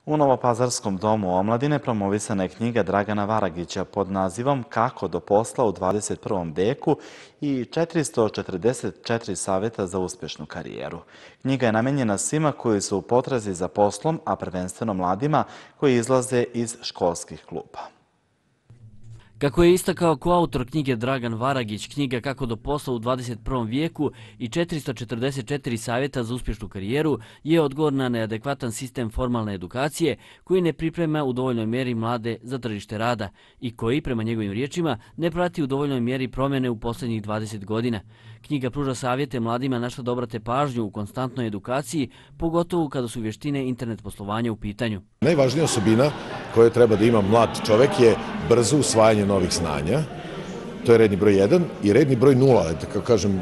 U Novopazarskom domu omladine promovisana je knjiga Dragana Varagića pod nazivom Kako do posla u 21. veku i 444 savjeta za uspješnu karijeru. Knjiga je namenjena svima koji su u potrazi za poslom, a prvenstveno mladima koji izlaze iz školskih klupa. Kako je istakao koautor knjige Dragan Varagić, knjiga Kako do posla u 21. vijeku i 444 savjeta za uspješnu karijeru je odgovor na neadekvatan sistem formalne edukacije koji ne priprema u dovoljnoj mjeri mlade za tržište rada i koji, prema njegovim riječima, ne prati u dovoljnoj mjeri promjene u posljednjih 20 godina. Knjiga pruža savjete mladima na što da obrate pažnju u konstantnoj edukaciji, pogotovo kada su vještine internet poslovanja u pitanju. Najvažnija osobina koju treba da ima mlad čovek je brzo usvajanje novih znanja. To je redni broj 1 i redni broj 0, kako kažem,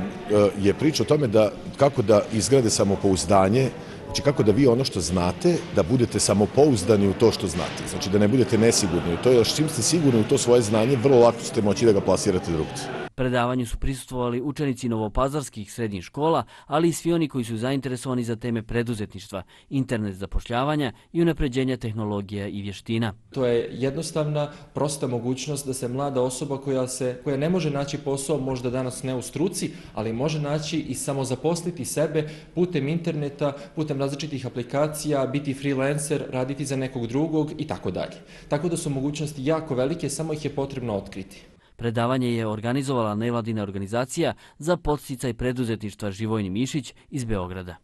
je priča o tome kako da izgrade samopouzdanje, znači kako da vi ono što znate, da budete samopouzdani u to što znate, znači da ne budete nesigurni u to, jer čim ste sigurni u to svoje znanje, vrlo lako ćete moći da ga plasirate drugdje. Predavanju su prisustvovali učenici novopazarskih srednjih škola, ali i svi oni koji su zainteresovani za teme preduzetništva, internet zapošljavanja i unapređenja tehnologija i vještina. To je jednostavna, prosta mogućnost da se mlada osoba koja ne može naći posao, možda danas ne u struci, ali može naći i samozaposliti sebe putem interneta, putem različitih aplikacija, biti freelancer, raditi za nekog drugog i tako dalje. Tako da su mogućnosti jako velike, samo ih je potrebno otkriti. Predavanje je organizovala nevladina organizacija za podsticaj preduzetništva Živojni Mišić iz Beograda.